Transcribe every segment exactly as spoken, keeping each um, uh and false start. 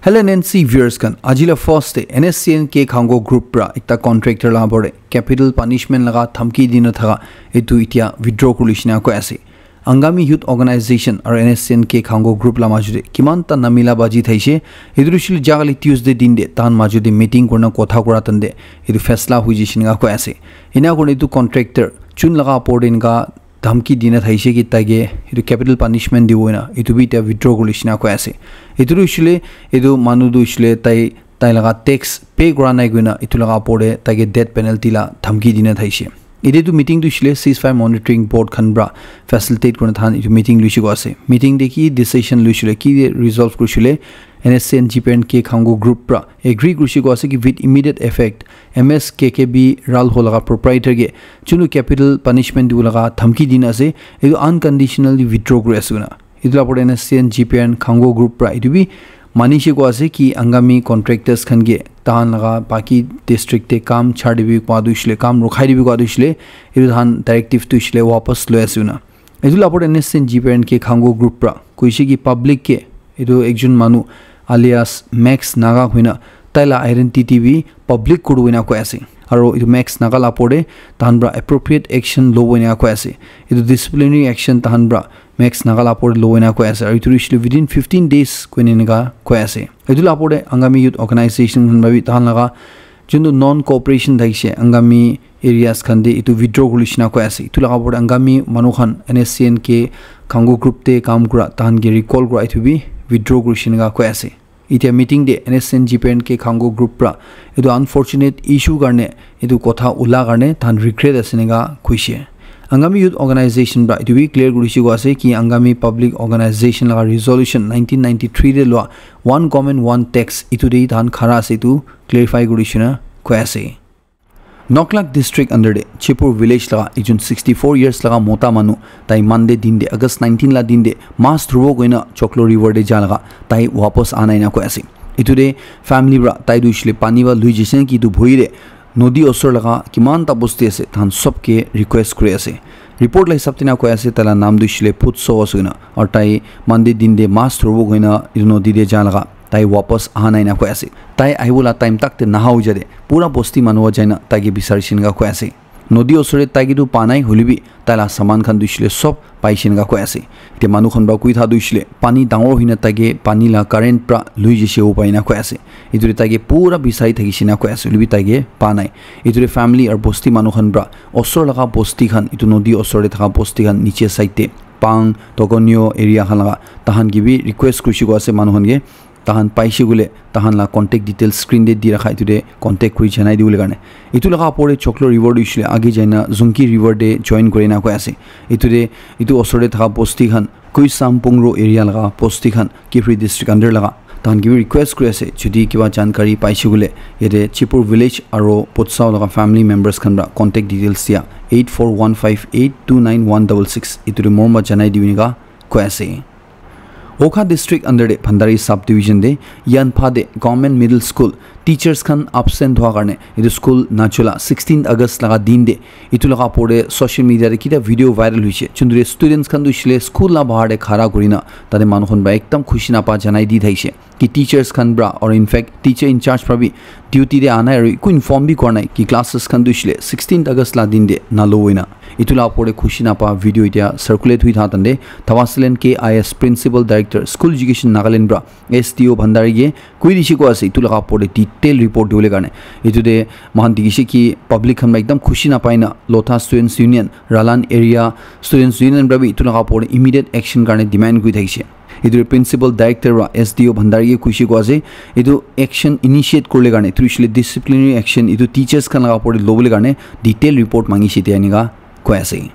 Hello N N C viewers khan, aji la first te N S C N K Khango group pra ekta contractor la opor te capital punishment laga dhamki dina thaka etu itia withdraw kuri shina koi ase. Angami Youth Organization aru N S C N K Khango group la majute kiman ta namila baji thaise. Etu shil jagali Tuesday din de tan majute meeting kurna kotha kura tande etu faisla hui jishin ga koi ase. Ina kurna etu contractor chun laga opor te inka dhamki dina thaise ki taige etu capital punishment dibo na etu bi ta withdraw kuri shina koi ase. Etu shile etu manu tu shile tai tai laga tax pay kura nai koina etu laga opor te taike death penalty la dhamki dina thaise. Ede tu meeting tu shile ceasefire monitoring board khan pra facilitate kurna than etu meeting luishi ko ase. Meeting de ki decision luishile ki resolve kurishile N S C N G P and K Khango group pra agree kurishi ko ase ki with immediate effect M S K K B Ral ho laga proprietor ke chunu capital punishment dibo laga dhamki dina ase etu unconditionally withdraw kuri ase koina. Etu la opor N S C N G P and Khango group pra etu bi manishe ko ase ki Angami contractors khan ke tahan laga baki district te kam chhar dibi kwa du shile kam rukhai dibi kwa du shile etu tahan directive tu shile wapas loi ase koina. Etu la opor N S C N G P and K Khango group pra koishe ki public ke etu ekjon manu alias Max Naga hoina tai la identity bi public kuru hoina koi ase. Aru etu Max Naga la opor te tahan pra appropriate action lobo hoina koi ase. Etu disciplinary action tahan pra Max Naga la opor te lobo hoina koi ase. Aru etu shile within fifteen days koina enika koi ase. Etu la opor te Angami Youth Organization khan pra bi tahan laga juntu non cooperation thakishe Angami areas khan de etu withdraw kuri shina koi ase. Etu laga opor te Angami manu khan N S C N K Khango group te kam kura tahan ke recall kura etu bi withdraw kuri shina koi ase. Itia meeting de N S C N G P and K Khango group pra etu unfortunate issue karne etu kotha ula karne tahan regret ase enika koishe. Angami Youth Organization pra etu bi clear kurishi ko ase ki Angami Public Organization laga resolution nineteen ninety-three de lua one government one tax etu de tahan khara ase etu clarify kuri shina koi ase. Noklak district under de Chipur village laga ekjon sixty-four years laga mota manu tai Monday din de August nineteen la din de mas dhurbo koina Choklo river de ja laga tai wapas ana ina koi ase. Etu de family pra tai du shile pani ba lui jise ki etu bhoi de nodi osor laga kiman ta bosti ase tahan sob ke request kuri ase. Report la hisab tina koi ase tai la naam du shile Putso ase koina aru tai Monday din de mas dhurbo koina etu nodi de ja laga tai wapas aha nai na koi ase. Tai ahibo la time tak te naha hoi jade pura bosti manu wa jaina tai ke bisari shin ga koi ase. Nodi osor te tai ke tu pa nai hoile bi tai la saman khan tu shile sob pai shin ga koi ase. Te manu khan ba kui tha tu shile pani dangor hoina tai ke pani la current pra lui jise ho pai na koi ase. Etu te tai ke pura bisari thaki shin ga koi ase hoile bi tai ke pa nai. Etu te family aru bosti manu khan pra osor laga bosti khan etu nodi osor te thaka bosti khan niche side te Pang, Tokonyo area khan laga tahan ke bi request kurishi ko ase manu khan ke tahan paishe koile tahan la contact details screen te di rakha etu te contact kuri janai dibole karne. Etu laga opor te Choklo river tu hoishe le age jaina Zunki river te join kuri na koi ase. Etu te etu osor te thaka bosti khan Kuisam Pungro area laga bosti khan Kiphire district under laga tahan ke bi request kuri ase jodi kiba jankari paishe koile yate Chipur village aro Potsao laga family members khan pra contact details dia eight four one five eight two nine one double six etu te morom pra janai dibi enika koi ase. Wokha district under te Bhandari sub division te Yanpha te government middle school teachers khan absent hua karne etu school nachula sixteenth August laga din te etu laga opor te social media te kita video viral hoise juntu te students khan tu hoishe le school la bahar te khara kurina tate manu khan pra ekdam khushi napa janai di thaise ki teachers khan pra or in fact teacher in charge pra bi duty te anai aru eku inform bi kora nai ki classes khan tu hoishe le sixteenth August la din te nalo hoina etu la opor te khushi napa video etia circulate hui tha tande Thabasalen K I S principal director school education Nagaland pra S D O Bhandari ke koi dishe ko ase etu laga opor te detail report dibole karne etu te moikhan dikhi se ki public khan pra ekdam khushi napai na Lotha Students Union, Ralan Area Students Union pra bi etu laga opor te immediate action karne demand kuri thakishe. Etu te Principal Director pra S D O Bhandari ke koi she ko ase, etu action initiate kuribole karne, etu hoishe le disciplinary action, etu teachers khan laga opor te lobole karne detail report mangishe etia enika koi ase.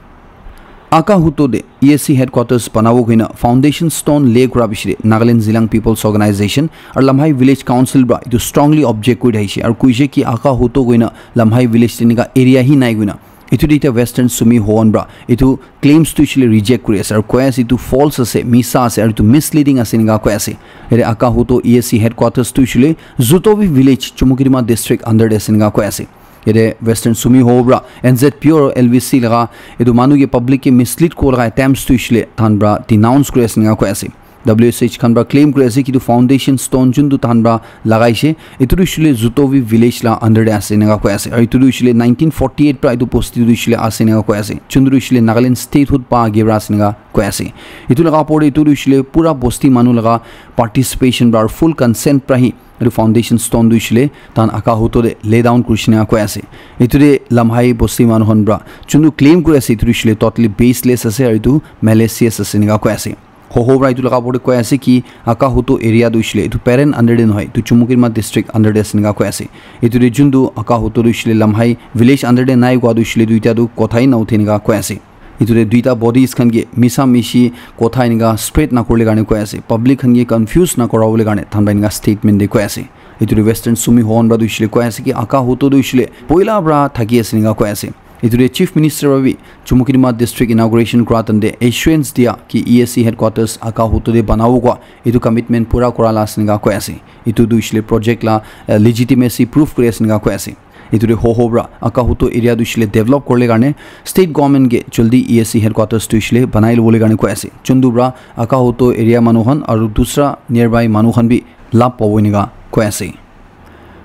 Akahuto te E S C headquarters banabo koina foundation stone lay kura piche te Nagaland Zeliang People's Organization aru Lamhai Village Council pra etu strongly object kuri thakishe aru koishe ki Akahuto koina Lamhai Village te enika area hi nai koina. Etu te etia Western Sumi Hoan pra etu claims tu hoishe le reject kuri ase aru koi ase etu false ase, misa ase aru etu misleading ase enika koi ase. Yate Akahuto E S C headquarters tu hoishe le Zutobi village Chumukedima district under te ase enika koi ase. Yate Western Sumi Hoan pra N Z P O aru L V C laga etu manu ke public ke mislead kura laga attempts tu hoishe le tahan pra denounce kuri ase enika koi ase. W S H khan pra claim kuri ase ki etu foundation stone juntu tahan pra lagaishe, etu tu hoishile Zutovi village la under te ase enika koi ase. Aru etu tu hoishile nineteen forty-eight pra etu bosti tu hoishile ase enika koi ase. Juntu tu hoishile Nagaland statehood pa age pra ase enika koi ase. Etu laga opor te etu tu hoishile pura bosti manu laga participation pra aru full consent pra hi etu foundation stone tu hoishile tahan Aka Hoto te lay down kurishe enika koi ase. Etu te Lamhai bosti manu khan pra juntu claim kuri ase etu tu hoishile totally baseless ase aru etu malicious ase enika koi ase. Hoho pra etu laga opor te koi ase ki Aka Hoto area tu hoishile etu Peren under te nohoi, etu Chumukedima district under te ase enika koi ase. Etu te juntu Aka Hoto tu hoishile Lamhai village under te nai koa tu hoishile etu itya tu kotha hi na uthe enika koi ase. Etu te duita bodies khan ke misa mishi kotha enika spread na kuribole karne koi ase. Public khan ke confuse na kuribole karne tahan pra enika statement te koi ase. Etu te Western Sumi Hohon pra tu hoishile koi ase ki Aka Hoto tu hoishile poila pra thaki ase enika koi ase. Etu te Chief Minister pra bi Chumukedima district inauguration kura time te assurance dia ki E A C headquarters Aka Hoto te banabo koa etu commitment pura kura la ase enika koi ase. Etu tu hoishile project la, eh, legitimacy proof kuri ase enika koi ase. Etu te Hoho pra Aka Hoto area tu hoishile develop kuribole karne state government ke jaldi E A C headquarters tu hoishile banai lobole karne koi ase. Juntu pra Aka Hoto area manu khan aru dusra nearby manu khan bi labh pabo enika koi ase.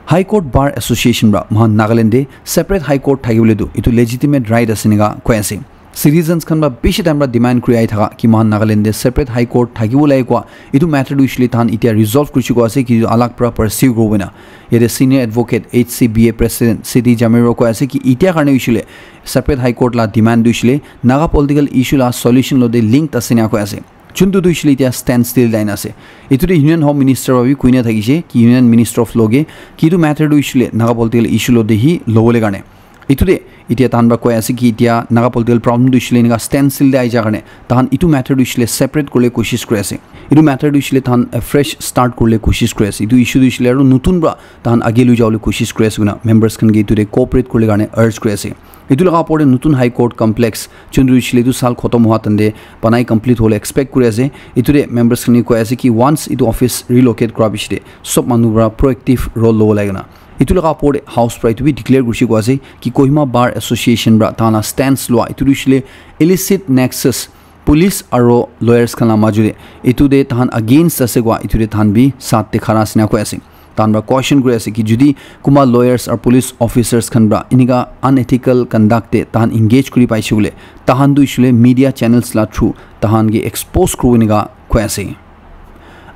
High Court Bar Association pra mohan Nagaland te separate High Court thakibole tu etu legitimate right ase enika koi ase. Citizens khan pra bishi time pra demand kuri ahi thaka ki mohan Nagaland te separate High Court thakibo lage koa etu matter tu hoishile tahan itya resolve kurishe koa ase ki etu alag pra pursue kuribo na. Yate Senior Advocate H C B A President C D Jamir pra koi ase ki itya karne hoishile separate High Court la demand tu hoishile Naga political issue la solution logote linked ase enika koi ase. Juntu tu hoishile itya standstill te aina ase. Etu te Union Home Minister pra bi koina thakishe ki Union Minister of Law ke ki etu matter tu hoishile Naga political issue logote hi lobole karne. Etu te itya tahan pra koi ase ki itya Naga political problem tu hoishile enika standstill te ahi ja karne tahan etu matter tu hoishile separate kuribole koshish kuri ase. Etu matter tu hoishile tahan, eh, fresh start kuribole koshish kuri ase. Etu issue tu hoishile aru notun pra tahan age loi jabole koshish kuri ase koina members khan ke etu te cooperate kuribole karne urge kuri ase. Etu laga opor te notun High Court complex juntu hoishile etu saal khotom hoa time te banai complete hobole expect kuri ase. Etu te members khan ke koi ase ki once etu office relocate kura piche te sob manu pra proactive role lobo lage na. Etu laga opor te House pra etu bi declare kurishe koa ase ki Kohima Bar Association pra tahan la stance lua etu tu hoishile illicit nexus police aro lawyers khan la maju te etu te tahan against ase koa etu te tahan bi saath te khara ase enika koi ase. Tahan pra caution kuri ase ki jodi kunba lawyers aru police officers khan pra enika unethical conduct te tahan engage kuri paishe koile tahan tu hoishile media channels la through tahan ke expose kuribo enika koi ase.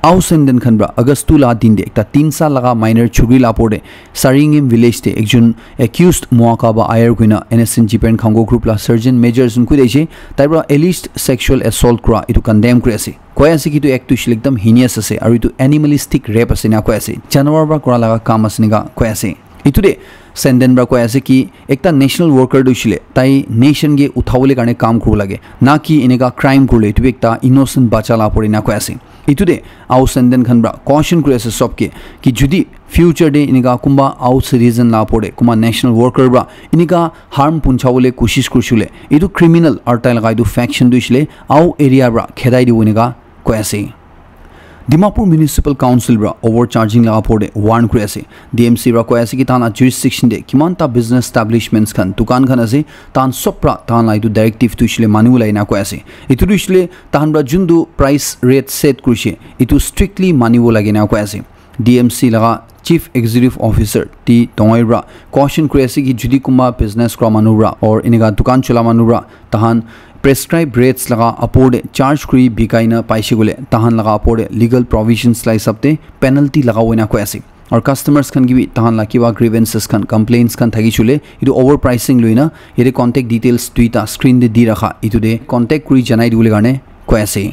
Ao Senden khan pra August two la din te ekta tin saal laga minor chukri la opor te Saringim village te ekjon accused Moakaba Ayer koina N S N Jipen Khango group la sergeant major jun koi daishe tai pra alleged sexual assault kura etu condemn kuri ase. Koi ase ki etu act tu hoishile ekdam heinous ase aru etu animalistic rape ase enika koi ase. Janwar pra kura laga kam ase enika koi ase. Etu te Senden pra koi ase ki ekta national worker tu hoishile tai nation ke uthabole karne kam kuribo lage na ki enika crime kurile etu bi ekta innocent bacha la opor enika koi ase. Etu te Ao Senden khan pra caution kuri ase sob ke ki jodi future te enika kunba Ao citizen la opor te kunba national worker pra enika harm punchawole koshish kurishe koile etu criminal aru tai laga etu faction tu hoishile Ao area pra khedai dibo enika koi ase. Dimapur Municipal Council pra overcharging laga opor te warn kuri ase. D M C pra koi ase ki tahan la jurisdiction te kiman ta business establishments khan, dukan khan ase, tahan sob pra tahan la etu directive tu hoishile manibo lage na koi ase. Etu tu hoishile tahan pra juntu price rate set kurishe, etu strictly manibo lage na koi ase. D M C laga Chief Executive Officer T Tongoi pra caution kuri ase ki jodi kunba business kura manu pra or enika dukan chola manu pra tahan prescribed rates laga opor te charge kuri bikai na paishe koile tahan laga opor te legal provisions la hisab te penalty lagabo enika koi ase. Aru customers khan ke bi tahan la kiba grievances khan, complaints khan thakishe koile etu overpricing loi na yate contact details duita screen te di rakha, etu te contact kuri janai dibole karne koi ase.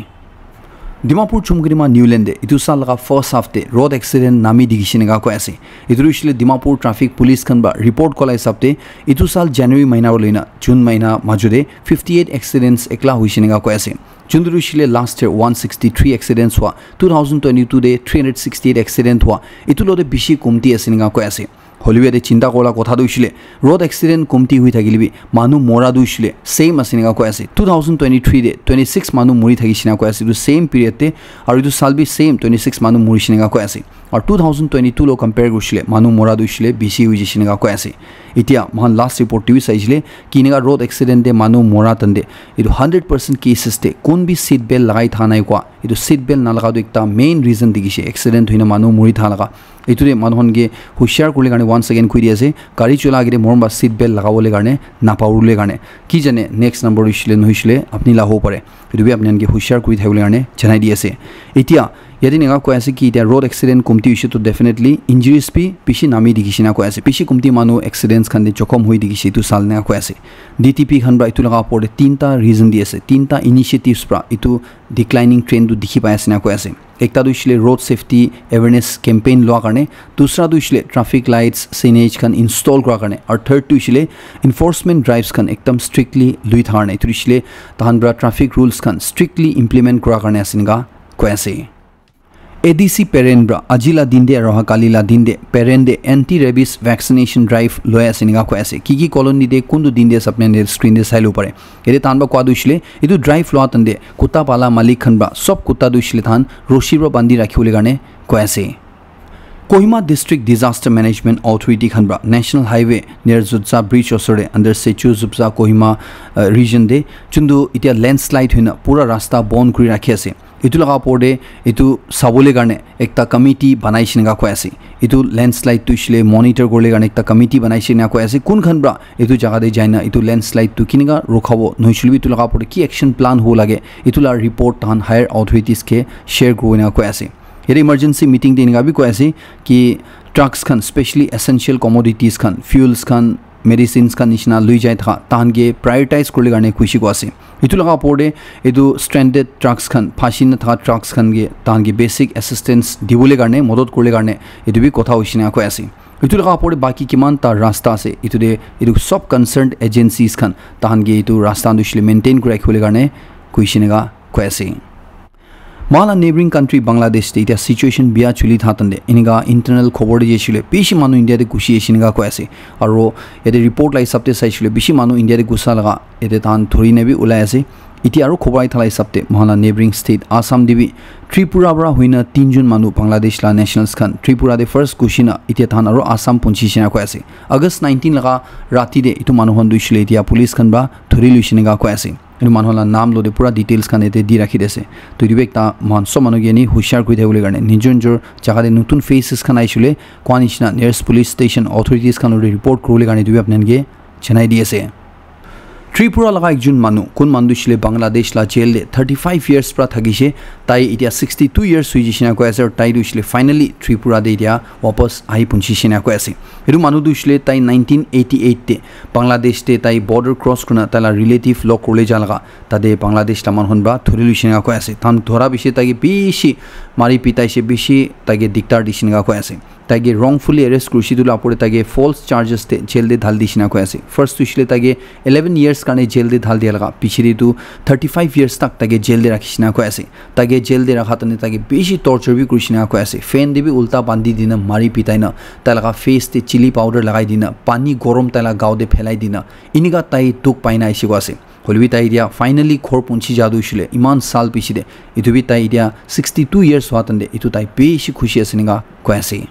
Dimapur Chumkedima New Line te etu saal laga first half te road accident nami dikhishe enika koi ase. Etu tu hoishile Dimapur Traffic Police khan pra report koa la hisab te etu saal January mahina para loina June mahina majo te fifty eight accidents ekla hoishe enika koi ase. Juntu tu hoishile last year one sixty three accidents hua, two thousand twenty two te three hundred sixty eight accident hua, etu logote bishi komti ase enika koi ase. Hoilebi yate chinta kurala kotha tu hoishile, road accident komti hui thakile bi manu mora tu hoishile same ase enika koi ase. Two thousand twenty-three te twenty-six manu mori thakishe enika koi ase etu same period te, aru etu saal bi same twenty-six manu morishe enika koi ase. Aru two thousand twenty-two lo compare kurishile manu mora tu hoishile bishi hui jaishe enika koi ase. Etia moikhan last report te bi saishile ki enika road accident te manu mora tande etu hundred percent cases te kun bi seat belt lagai tha nai koa, etu seat belt nalaga tu ekta main reason dikhishe accident huina manu mori tha laga. Etu te manu khan ke hushiar kuri karne once again koi di ase, gari chola agete morom ba seat belt lagabole karne napahuribole karne. Ki jane next number hoishile nohoishile apni la hobo pare. Etu bi apni khan ke hushiar kuri thakibole karne janai di ase. Etia yate enika koi ase ki etia road accident komti hoishe to definitely injuries bi bishi nami dikhishe enika koi ase. Bishi komti manu accidents khan te jokhom hoi dikhishe etu saal enika koi ase. D T P khan pra etu laga opor te tinta reason di ase, tinta initiatives pra etu declining trend tu dikhi pai ase enika koi ase. Ekta tu hoishile road safety awareness campaign lua karne, dusra tu hoishile traffic lights, signage khan install kura karne, aru third tu hoishile enforcement drives khan ekdam strictly lui thaka karne, etu tu hoishile tahan pra traffic rules khan strictly implement kura karne ase enika koi ase. A D C Peren pra aji la din te aru kali la din te Peren te anti rabies vaccination drive loi ase enika koi ase. Ki ki colony te kuntu din te ase apni khan screen te sai lobo pare. Yate tahan pra koa tu hoishile etu drive lua tande kutta pala malik khan pra sob kutta tu hoishile tahan roshi pra bandi rakhibole karne koi ase. Kohima District Disaster Management Authority khan pra National Highway near Zutsa Bridge osor te under Sechu Zutsa Kohima, uh, region te chuntu etia landslide huina pura rasta bon kuri rakhi ase. Etu laga opor te etu sabole karne ekta committee banai she enika koi ase. Etu landslide tu hoishile monitor kuribole karne ekta committee banai she enika koi ase. Kun khan pra etu jaga te jaina etu landslide tu kenika rokhabo nohoishile bi etu laga opor te ki action plan hobo lage etu la report tahan higher authorities ke share kuribo enika koi ase. Yate emergency meeting te enika bi koi ase ki trucks khan, specially essential commodities khan, fuels khan, medicines khan nishina lui jai thaka tahan ke prioritize kuribole karne koishe koi ase. Etu laga opor te etu stranded trucks khan, phashi na thaka trucks khan ke tahan ke basic assistance dibole karne, modot kuribole karne etu bi kotha hoishe enika koi ase. Etu laga opor te baki kiman ta rasta ase, etu te etu sob concerned agencies khan tahan ke etu rasta tu hoishile maintain kuri rakhibole karne koishe enika koi ase. Moikhan la neighboring country Bangladesh te etia situation bia chuli thaka tande enika internal khobor te jaishile bishi manu India te gushi ashi enika koi ase. Aru yate report la hisab te saishile bishi manu India te gusa laga yate tahan dhuri na bi ulai ase. Etia aru khobor ahi thala hisab te moikhan la neighboring state Assam te bi Tripura pra huina tinjon manu Bangladesh la nationals khan Tripura te first gushi na etia tahan aru Assam punchi she enika koi ase. August nineteen laga rati te etu manu khan tu hoishile etia police khan pra dhuri loishe enika koi ase. Etu manu la naam lote pura details khan yate di rakhi di ase. To etu bi ekta moikhan sob manu ke ni hushiar kuri thakibole karne nijor nijor jaga te notun faces khan aishile koa nishina nearest police station authorities khan lote report kuribole karne etu bi apni khan ke janai di ase. Tripura laga ekjon manu, kun manu tu hoishile Bangladesh la jail te thirty five years pra thakishe, tai etia sixty two years hoi jaishe enika koi ase, aru tai tu hoishile finally Tripura te etia wapas ahi punchi she enika koi ase. Etu manu tu hoishile tai nineteen eighty eight te Bangladesh te tai border cross kurina tai la relative log kuribole ja laga tate Bangladesh la manu khan pra dhuri loishe enika koi ase. Tahan dhura bishi tai ke bishi mari pitai she bishi tai ke diktar dishe enika koi ase. Tai ke wrongfully arrest kurishe etu la opor te tai ke false charges te jail te dhali dishe enika koi ase. First tu hoishile tai ke eleven years karne jail te dhali dia laga piche te tu thirty five years tak tai ke jail te rakhishe enika koi ase. Tai ke jail te rakha tane tai ke bishi torture bi kurishe enika koi ase. Fan te bi ulta bandi dina mari pitai na tai laga face te chilli powder lagai dina pani gorom tai laga gao te phelai dina enika tai dukh pai na aishe koi ase. Hoilebi tai etia finally ghor punchi ja tu hoishile eman saal piche te etu bi tai etia sixty two years hua tande etu tai bishi khushi ase enika koi ase.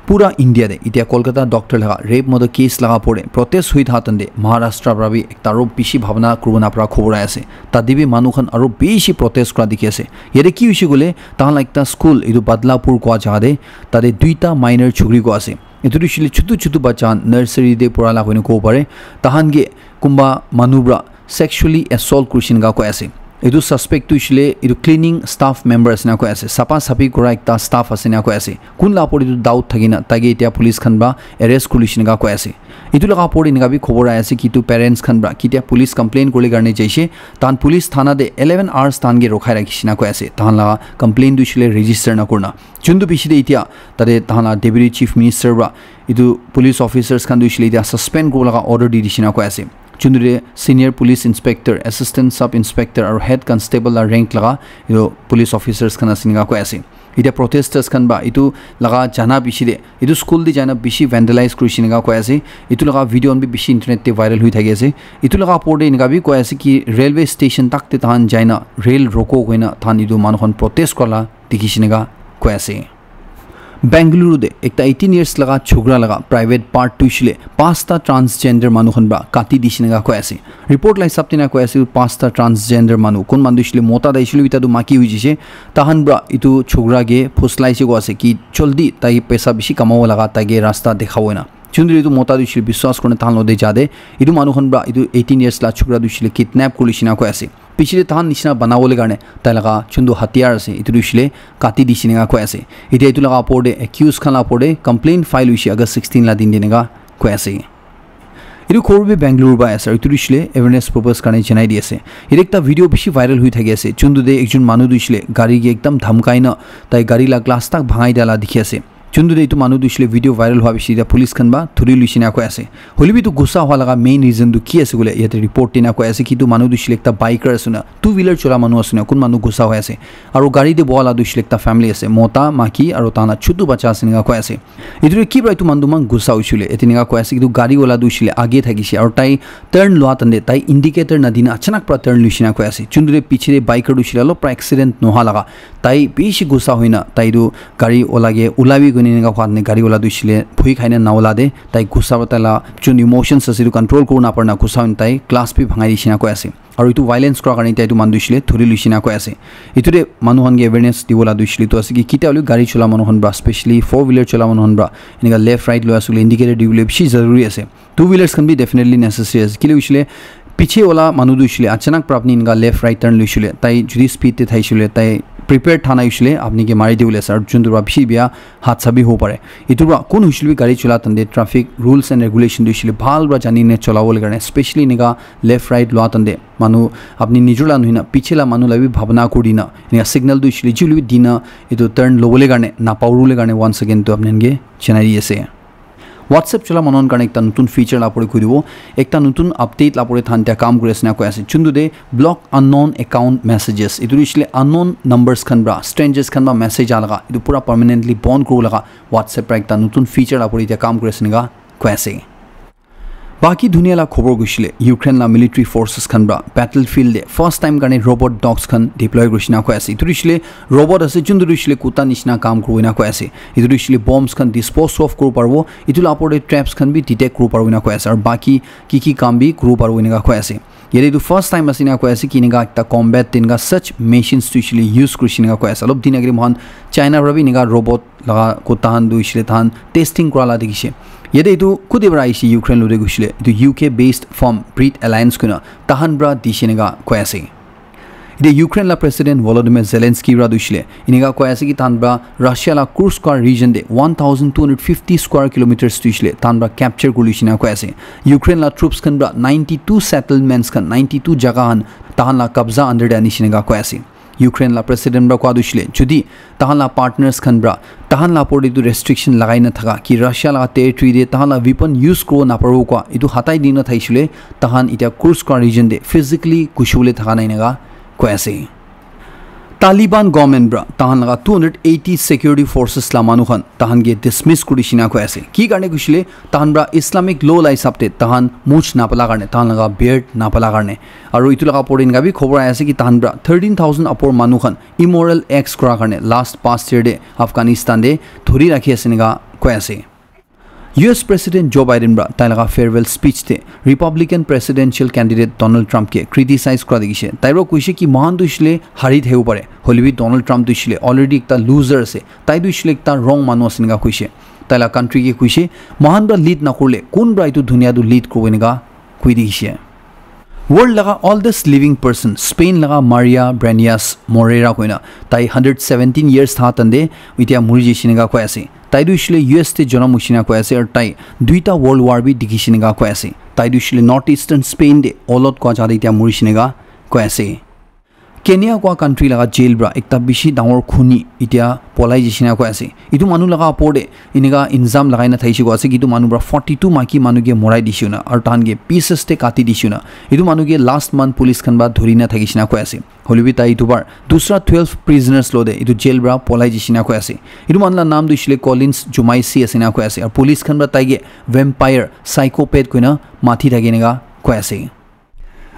Pura India te etia Kolkata doctor laga rape murder case laga opor te protest hoi thaka tande Maharashtra pra bi ekta aru bishi bhabna kuribo na para khobor ahi ase. Tate bi manu khan aru bishi protest kura dikhi ase. Yate ki hoishe koile tahan la ekta school etu Badlapur koa jaga te tate duita minor chukri koa ase. Etu tu hoishile chutu chutu bacha khan nursery te pura la koina kobo pare. Tahan ke kunba manu pra sexually assault kurishe enika koi ase. Etu suspect tu hoishile etu cleaning staff member ase enika koi ase. Sapa sapi kura ekta staff ase enika koi ase. Kun la opor te etu doubt thakina tai ke etia police khan pra arrest kuri loishe enika koi ase. Etu laga opor te enika bi khobor ahi ase ki etu parents khan pra ketia police complain kuribole karne jaishe. Tahan police thana te eleven hours tahan ke rokhai rakhishe enika koi ase. Tahan laga complain tu hoishile register na kurina. Chuntu piche te etia tate tahan la Deputy Chief Minister pra etu police officers khan tu hoishile etia suspend kuribo laga order di dishe enika koi ase. Chuntu te Senior Police Inspector, Assistant Sub Inspector aru Head Constable la rank laga etu police officers khan ase enika koi ase. Etiya protesters khan para etu laga jana piche te, etu school te jaina bishi vandalize kurishe eninka koi ase. Etu laga video khan bi bishi internet te viral hoi thaki ase. Etu laga opor te eninka bi koi ase ki railway station tak te tahan jaina rail roko koina tahan etu manu khan protest kura la dikhishe eninka koi ase. Bengaluru te ekta eighteen years laga chokra laga private part tu hoishe le pasta transgender manu khan para kati dishe eninka koi ase. Report la hisab te eninka koi ase pasta transgender manu, kun manu tu hoishe le mota tai hoishe le etia tu maiki hoi jaise, tahan para etu chokra ke phuslai se koi ase ki jaldi tai paisa bishi kamabo laga tai ke rasta dekhabo eninka. Chundri etu mota tu hoishe le biswas kurina tahan logote ja te, etu manu khan para etu eighteen years la chokra tu hoishe le kidnap kuri lishe eninka koi ase. Piche te tahan nishina banabole karne tai laga chundu hatiyar ase, etu tu hoishe le kati dishe eninka koi ase. Etiya etu laga opor te accused khan la opor te complaint file hoishe August sixteen la din te eninka koi ase. Etu khobor bi Bengaluru para ase, aru etu tu hoishe le awareness purpose karne janai di ase. Etiya ekta video bishi viral hoi thaki ase, chundu te ekjon manu tu hoishe le gari ke ekdam dhamkai na tai gari la glass tak bhangai dia la dikhi ase. Chundu te etu manu tu hoishe le video viral hua piche te police khan para thuri luishe eninka koi ase. Hoile bi etu gussa hua laga main reason tu ki ase koile, yate report te eninka koi ase ki etu manu tu hoishe le ekta biker ase na, two wheeler chola manu ase na, kun manu gussa hoi ase. Aru gari te boha la tu hoishe le ekta family ase, mota, maiki aru tahan la chutu bacha ase eninka koi ase. Etu tu ki para etu manu tu eman gussa hoishe koile, ete eninka koi ase ki etu gari wala tu hoishe le age thakishe aru tai turn lua time te tai indicator na dina achanak para turn luishe eninka koi ase. Chundu te piche te biker tu hoishe le olop para accident noha laga tai bishi gussa hoina tai tu gari wala ke ulabi koina eninka koi ase, gari wala tu hoishe le bhoi khai na naola te tai gussa para tai la jun emotions ase etu control kuri napare na gussa hoina tai glass bi bhangai dishe eninka koi ase. Aru etu violence kura karne tai etu manu tu hoishe le thuri luishe eninka koi ase. Etu te manu khan ke awareness dibo la tu hoishe le etu ase ki ketia hoile gari chola manu khan para, specially four wheeler chola manu khan para eninka left right lua ase koile indicator dibole bishi zaruri ase. Two wheelers khan bi definitely necessary ase. Kile hoishe le piche wala manu tu hoishe le achanak para apni eninka left right turn luishe le, tai jodi speed te thaishe le, tai prepared tha nai hoishe le apni ke mari dibole ase, aru chundu para bishi bia hadsa bi hobo pare. Etu para kun hoishe le bi gari chola time te traffic rules and regulation tu hoishe le bhal para jani na cholabole karne, specially eninka left right lua time te manu apni nijor la nohoi na piche la manu la bi bhabna kuri dina eninka signal tu hoishe le ji hoile bi dina etu turn lobole karne napaurule karne once again tu apni khan ke janai di ase. WhatsApp chola manu khan karne ekta notun feature la pore kuri dibo, ekta notun update la pore tahan etia kam kuri ase eninka koi ase. Chundu te block unknown account messages. Etu tu hoishe le unknown numbers khan para, strangers khan para message aha laga, etu pura permanently bond kuribo laga WhatsApp para ekta notun feature la pore etia kam kuri ase eninka koi ase. Baki dunia la khobor gushe le Ukraine la military forces khan para battlefield te first time karne robot dogs khan deploy kurishe eninka koi ase. Etu tu hoishe le robot ase, chundu tu hoishe le kutta nishina kam kuribo eninka koi ase. Etu tu hoishe le bombs khan dispose off kuribo paribo, etu la opor te traps khan bi detect kuribo paribo eninka koi ase, aru baki ki ki kam bi kuribo paribo eninka koi ase. Yate etu first time ase eninka koi ase ki eninka ekta combat te eninka such machines tu hoishe le use kurishe eninka koi ase. Olop din agere moikhan China para bi eninka robot laga kutta khan tu hoishe le tahan testing kura la dikhishe. Yate etu kute para ahishe, Ukraine logote gushe le etu U K based firm Breed Alliance koina tahan para dishe eninka koi ase. Etiya Ukraine la President Volodymyr Zelensky para tu hoishe le eninka koi ase ki tahan para Russia la Kursk region te one thousand two hundred fifty square kilometers tu hoishe le tahan para capture kuri luishe eninka koi ase. Ukraine la troops khan para ninety two settlements khan, ninety two jaga khan tahan la kabza under te anishe eninka koi ase. Ukraine la president para koa tu hoishe le, jodi tahan la partners khan para tahan la opor te etu restriction lagai na thaka ki Russia la territory te tahan la weapon use kuribo naparibo koa etu hatai dina thaishe le, tahan etiya Kursk region te physically gushibo le thaka nai eninka koi ase. Taliban government para tahan laga two hundred eighty security forces la manu khan tahan ke dismiss kuri dishe eninka koi ase. Ki karne gushe le, tahan para Islamic law la hisab te tahan much napala karne, tahan laga beard napala karne. Aru etu laga opor te eninka bi khobor ahi ase ki tahan para thirteen thousand upor manu khan immoral acts kura karne last past year te Afghanistan te dhuri rakhi ase eninka koi ase. U S President Joe Biden para tai laga farewell speech te Republican presidential candidate Donald Trump ke criticize kura dikhishe. Tai para koishe ki moikhan tu hoishe le hari thakibo pare, hoile bi Donald Trump tu hoishe le already ekta loser ase. Tai tu hoishe le ekta wrong manu ase eninka koishe. Tai la country ke koishe, moikhan para lead nakurile kun para etu dunia tu lead kuribo eninka koi dikhishe. World laga oldest living person, Spain laga Maria Breñas Moreira koina, tai hundred seventeen years tha tande etiya muri jaishe eninka koi ase. Tai tu hoishe le U S te jonom hoishe eninka koi ase, aru tai duita world war bi dikhishe eninka koi ase. Tai tu hoishe le north eastern Spain te Olot koa jaga te etiya murishe eninka koi ase. Kenya koa country laga jail pra ekta bishi dangor khuni etia polai jishe na koi ase. Etu manu laga opor te enika ilzam lagai na thakishi koi ase ki etu manu pra forty two maiki manu ke morai dishe na aru tahan ke pieces te kati dishe na. Etu manu ke last month police khan pra dhuri na thakishi na koi ase. Hoilebi tai etu bar dusra twelve prisoners lo te etu jail pra polai jishe na koi ase. Etu manu la naam tu hoishe le Collins Jumaisi ase na koi ase. Aru police khan pra tai ke vampire, psychopath koina mati thake enika koi ase.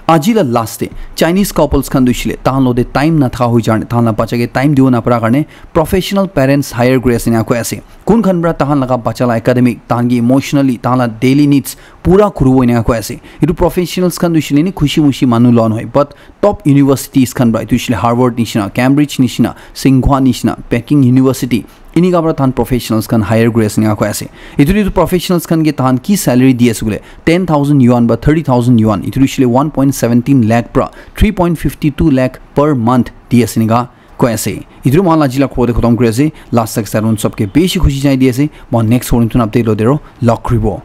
Aji la last te Chinese couples khan tu hoishe le tahan lo te time na thaka hoi jar tahan la bacha ke time dibo na para karne professional parents hire kuri ase na koi ase. Kun khan pra tahan laga bacha la academic, tahan ki emotionally, tahan la daily needs pura kuribo enika koi ase. Etu professionals khan tu hoishe le ni khushi mushi manu loa nohoi, but top universities khan pra etu hoishe le Harvard nishina, Cambridge nishina, Tsinghua nishina, Peking University, enika pra tahan professionals khan hire kuri ase enika koi ase. Etu etu professionals khan ke tahan ki salary di ase koile ten thousand yuan ba thirty thousand yuan, etu hoishe le one point seventeen lakh pra three point fifty two lakh per month di ase enika koi ase. Etu moi khan la aji la khobor te khotom kuri ase. Last tak saron sob ke bishi khushi janai di ase. Moi next horin tun update lo dero log kuribo.